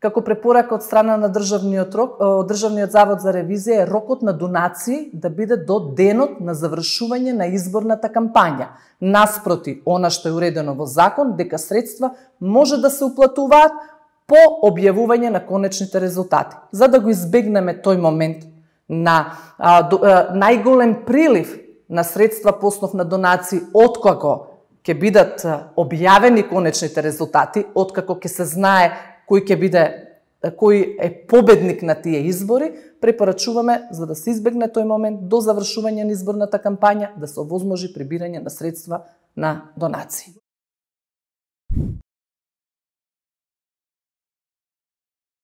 Како препорака од страна на Државниот завод за ревизија е рокот на донации да биде до денот на завршување на изборната кампања. Наспроти она што е уредено во закон, дека средства може да се уплатуваат по објавување на конечните резултати. За да го избегнеме тој момент на најголем прилив на средства по основ на донации откако ќе бидат објавени конечните резултати, откако ќе се знае кој е победник на тие избори, препорачуваме за да се избегне тој момент до завршување на изборната кампања да се овозможи прибирање на средства на донации.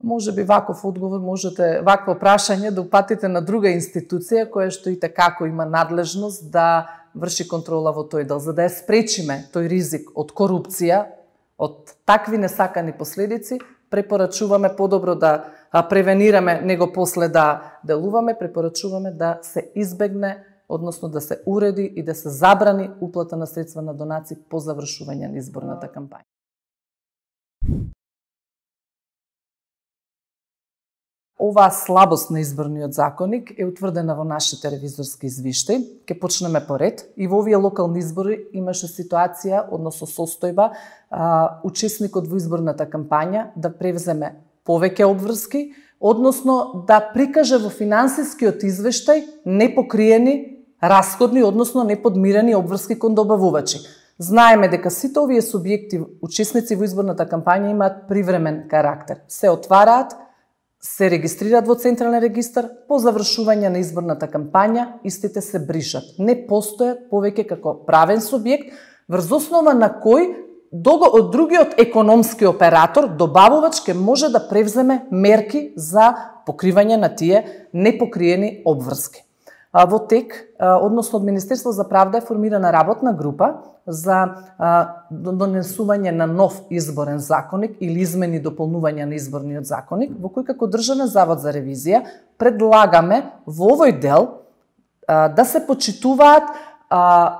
Може би ваков одговор можете, вакво прашање да упатите на друга институција која што и како има надлежност да врши контрола во тој дел, за да ја спречиме тој ризик од корупција, од такви несакани последици, препорачуваме подобро да превенираме, него после да делуваме, препорачуваме да се избегне, односно да се уреди и да се забрани уплата на средства на донации по завршување на изборната кампања. Оваа слабост на изборниот законник е утврдена во нашите ревизорски извиштаи. Ке почнеме по ред. И во овие локални избори имаше ситуација, односно состојба, учесникот во изборната кампања да превземе повеќе обврски, односно да прикаже во финансискиот извештај непокриени расходни, односно неподмирени обврски кон добавувачи. Знаеме дека сите овие субјекти, учесници во изборната кампања, имаат привремен карактер. Се отвараат, се регистрираат во Централен регистар, по завршување на изборната кампања, истите се бришат. Не постојат повеќе како правен субјект, врз основа на кој другиот економски оператор, добавувач, ке може да превземе мерки за покривање на тие непокриени обврски. Во тек, односно од Министерство за правда е формирана работна група за донесување на нов изборен законник или измени и дополнување на изборниот законник, во кој како Државен завод за ревизија предлагаме во овој дел да се почитуваат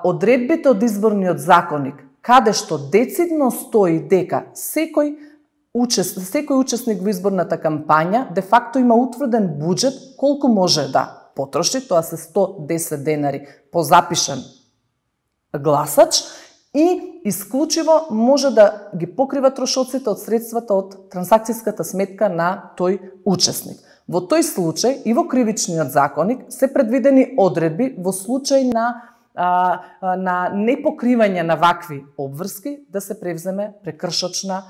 одредбите од изборниот законник, каде што децидно стои дека секој учесник во изборната кампања де факто има утврден буџет колку може да потроши, тоа се 110 денари по запишан гласач и исклучиво може да ги покрива трошоците од средствата од трансакцијската сметка на тој учесник. Во тој случај и во кривичниот законник се предвидени одредби во случај на непокривање на вакви обврски да се превземе прекршочна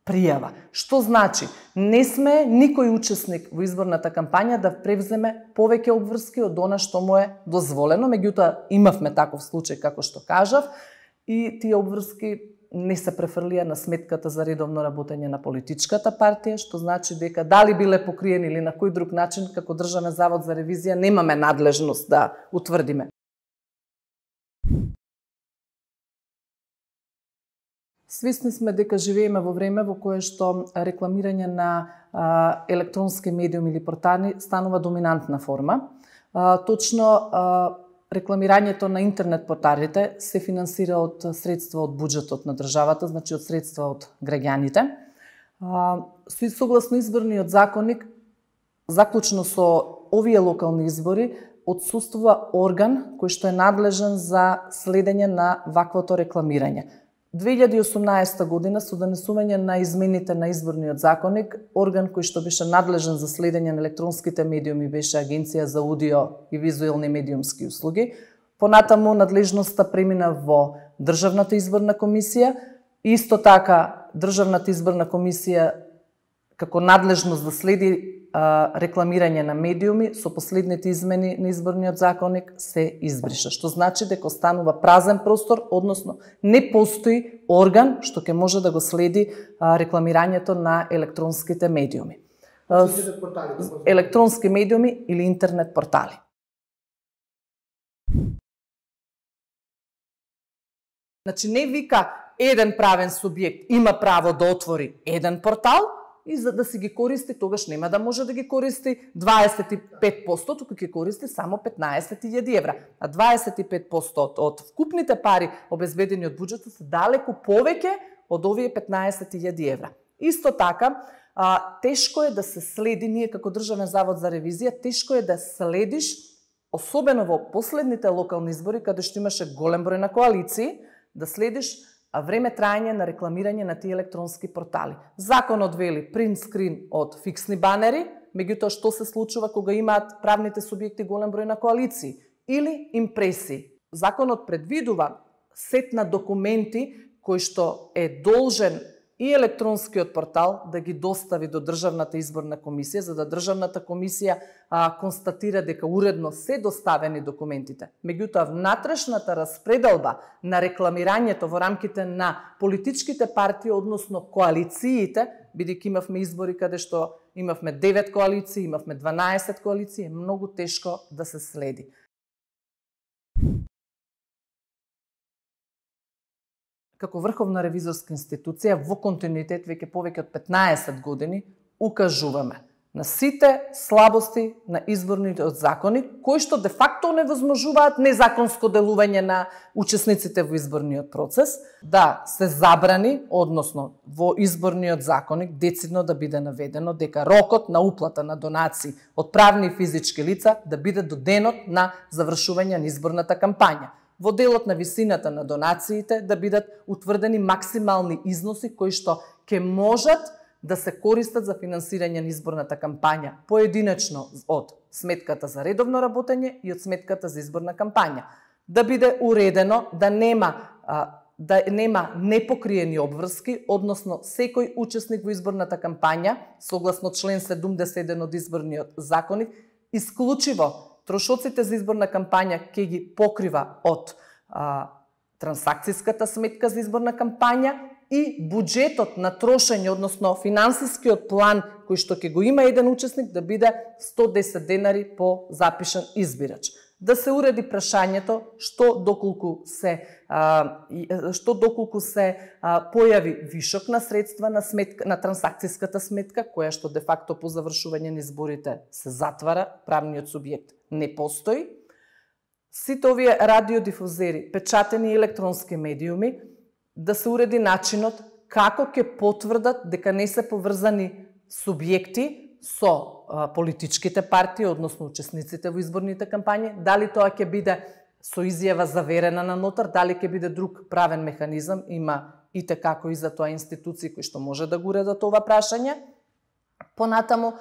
пријава. Што значи? Не сме никој учесник во изборната кампања да превземе повеќе обврски од она што му е дозволено, меѓутоа имавме таков случај како што кажав и тие обврски не се префрлија на сметката за редовно работење на политичката партија, што значи дека дали биле покриени или на кој друг начин, како Државен завод за ревизија немаме надлежност да утврдиме. Свесни сме дека живееме во време во кое што рекламирање на електронски медиуми или портали станува доминантна форма. Точно рекламирањето на интернет порталите се финансира од средства од буџетот на државата, значи од средства од граѓаните. Согласно изборниот законник, заклучно со овие локални избори, отсуствува орган кој што е надлежен за следење на ваквото рекламирање. 2018 година со донесување на измените на изборниот законник, орган кој што беше надлежен за следење на електронските медиуми беше Агенција за аудио и визуелни медиумски услуги. Понатаму надлежноста премина во Државната изборна комисија. Исто така Државната изборна комисија како надлежност да следи рекламирање на медиуми со последните измени на изборниот законник се избриша, што значи дека останува празен простор, односно не постои орган што ќе може да го следи рекламирањето на електронските медиуми. Електронски медиуми или интернет портали. Значи не вика еден правен субјект има право да отвори еден портал и за да си ги користи, тогаш нема да може да ги користи 25%, туку ќе користи само 15.000 евра. А 25% од вкупните пари обезбедени од буџетот се далеку повеќе од овие 15.000 евра. Исто така, тешко е да се следи, ние како Државен завод за ревизија, тешко е да следиш, особено во последните локални избори, каде што имаше голем број на коалиции, да следиш време траење на рекламирање на тие електронски портали. Законот вели принт скрин од фиксни банери, меѓутоа што се случува кога имаат правните субјекти голем број на коалиции или импресии. Законот предвидува сет на документи кои што е должен и електронскиот портал да ги достави до Државната изборна комисија, за да Државната комисија констатира дека уредно се доставени документите. Меѓутоа, внатрешната распределба на рекламирањето во рамките на политичките партии, односно коалициите, бидејќи имавме избори каде што имавме 9 коалиции, имавме 12 коалиции, е многу тешко да се следи. Како врховна ревизорска институција, во континуитет веќе повеќе од 15 години, укажуваме на сите слабости на изборниот законник, кои што де факто невозможуваат незаконско делување на учесниците во изборниот процес, да се забрани, односно во изборниот законник децидно да биде наведено дека рокот на уплата на донации од правни и физички лица да биде до денот на завршување на изборната кампања. Во делот на висината на донациите да бидат утврдени максимални износи кои што ќе можат да се користат за финансирање на изборната кампања, поединечно од сметката за редовно работење и од сметката за изборна кампања. Да биде уредено да нема непокриени обврски, односно секој учесник во изборната кампања, согласно член 71 од изборниот законник, исклучиво трошоците за изборна кампања ќе ги покрива од трансакцијската сметка за изборна кампања и буџетот на трошење, односно финансискиот план кој што ќе го има еден учесник да биде 110 денари по запишан избирач. Да се уреди прашањето што доколку се појави вишок на средства на трансакцијската сметка, која што де факто по завршување на изборите се затвара, правниот субјект не постои. Сите овие радиодифузери, печатени и електронски медиуми, да се уреди начинот како ќе потврдат дека не се поврзани субјекти со политичките партии, односно учесниците во изборните кампањи, дали тоа ќе биде со изјава заверена на нотар, дали ќе биде друг правен механизам, има и како и за тоа институции кои што може да го уредат ова прашање. Понатаму,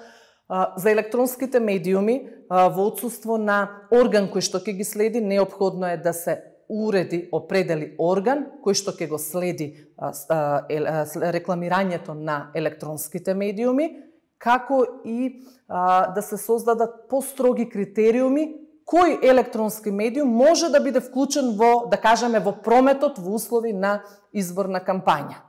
за електронските медиуми, во отсуство на орган кој што ќе ги следи, неопходно е да се уреди, определи орган кој што ќе го следи рекламирањето на електронските медиуми, како и да се создадат построги критериуми кој електронски медиум може да биде вклучен во, да кажеме, во прометот во услови на изборна кампања.